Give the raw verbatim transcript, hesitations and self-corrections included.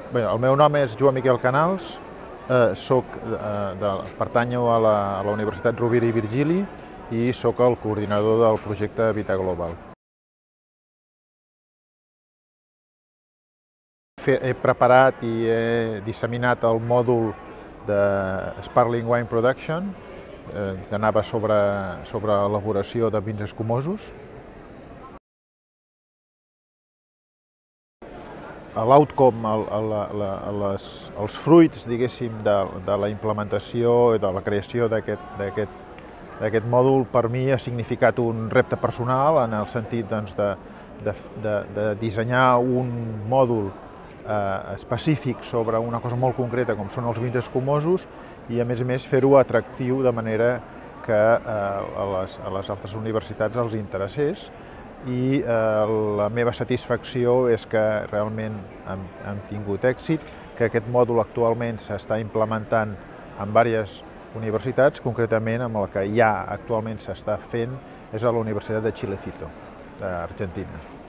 Bé, el meu nom és Joan Miquel Canals, eh, soc, eh, de, pertanyo a la, a la Universitat Rovira i Virgili i sóc el coordinador del projecte Vita Global. He preparat i he disseminat el mòdul de Sparkling Wine Production, eh, que anava sobre, sobre elaboració de vins escumosos. L'outcome, el, el, els fruits, diguéssim, de, de la implementació i de la creació d'aquest mòdul per mi ha significat un repte personal en el sentit doncs, de, de, de, de dissenyar un mòdul eh, específic sobre una cosa molt concreta com són els vins escumosos i a més a més fer-ho atractiu de manera que eh, a, les, a les altres universitats els interessés. I eh, la meva satisfacció és que realment hem, hem tingut èxit, que aquest mòdul actualment s'està implementant en diverses universitats, concretament amb el que ja actualment s'està fent és a la Universitat de Chilecito, d'Argentina.